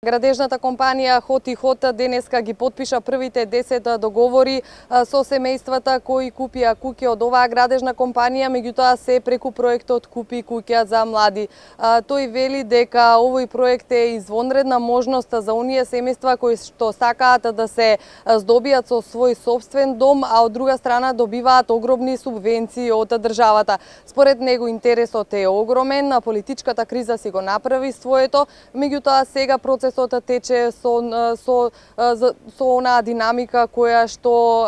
Градежната компанија Хот и Хот денеска ги потпиша првите 10 договори со семејствата кои купија куќи од оваа градежна компанија, меѓутоа се преку проектот Купи куќа за млади. Тој вели дека овој проект е извонредна можност за оние семејства кои што сакаат да се здобијат со свој сопствен дом, а од друга страна добиваат огромни субвенции од државата. Според него интересот е огромен, политичката криза си го направи своето, меѓутоа сега процесот тече со онаа динамика која што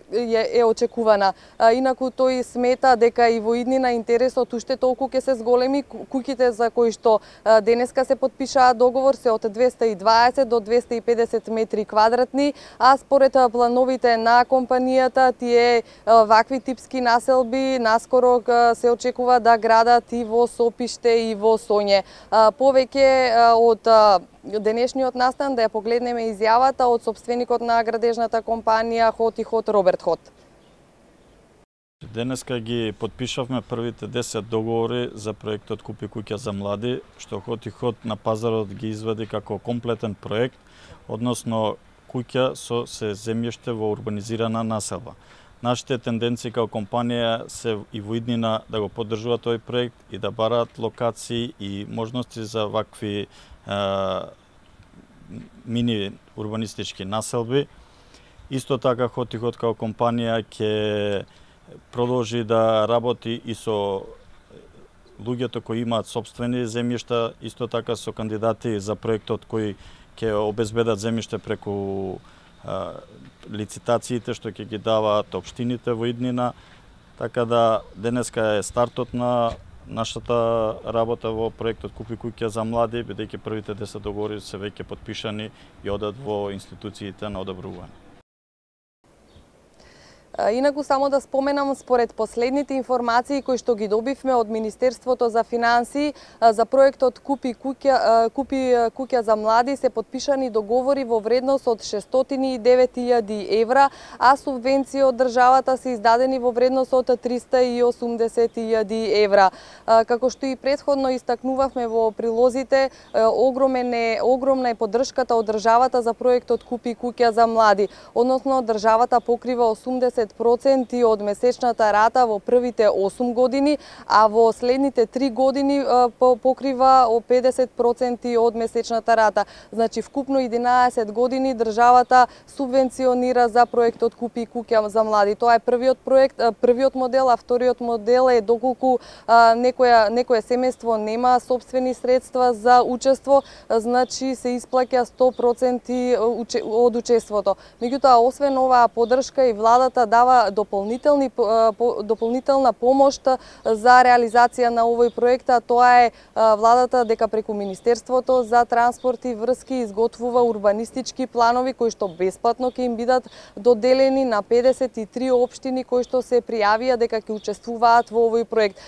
е очекувана. Инаку тој смета дека и во иднина интересот уште толку ќе се зголеми. Куќите за кои што денеска се потпишаа договор се од 220 до 250 метри квадратни, а според плановите на компанијата тие вакви типски населби наскоро се очекува да градат и во Сопиште и во Соње. Повеќе од денешниот настан да ја погледнеме изјавата од сопственикот на градежната компанија Хот и Хот, Роберт Хот. Денеска ги потпишавме првите 10 договори за проектот Купи куќа за млади, што Хот и Хот на пазарот ги извади како комплетен проект, односно куќа со се земјиште во урбанизирана населба. Нашите тенденции како компанија се и во иднина да го поддржуваат тој проект и да бараат локации и можности за вакви мини урбанистички населби. Исто така Хот и Хот како компанија ќе продолжи да работи и со луѓето кои имаат сопствени земјишта, исто така со кандидати за проектот кои ќе обезбедат земјиште преку лицитациите што ќе ги даваат општините во иднина. Така да денеска е стартот на нашата работа во проектот Купи куќа за млади, бидејќи првите 10 договори се веќе потпишани и одат во институциите на одобрување. Инаку само да споменам, според последните информации кои што ги добивме од Министерството за финансии, за проектот Купи куќа за млади се потпишани договори во вредност од 609.000 евра, а субвенции од државата се издадени во вредност од 380.000 евра. Како што и претходно истакнувавме во прилозите, огромна е поддршката од државата за проектот Купи куќа за млади, односно државата покрива 80% од месечната рата во првите 8 години, а во следните 3 години покрива 50% од месечната рата. Значи вкупно 11 години државата субвенционира за проектот Купи куќа за млади. Тоа е првиот проект, првиот модел, а вториот модел е доколку некое семејство нема сопствени средства за учество, значи се исплаќа 100% од учеството. Меѓутоа, освен оваа поддршка и владата дава дополнителна помош за реализација на овој проект, а тоа е владата дека преку Министерството за транспорт и врски изготвува урбанистички планови кои што бесплатно ќе им бидат доделени на 53 општини кои што се пријавија дека ќе учествуваат во овој проект.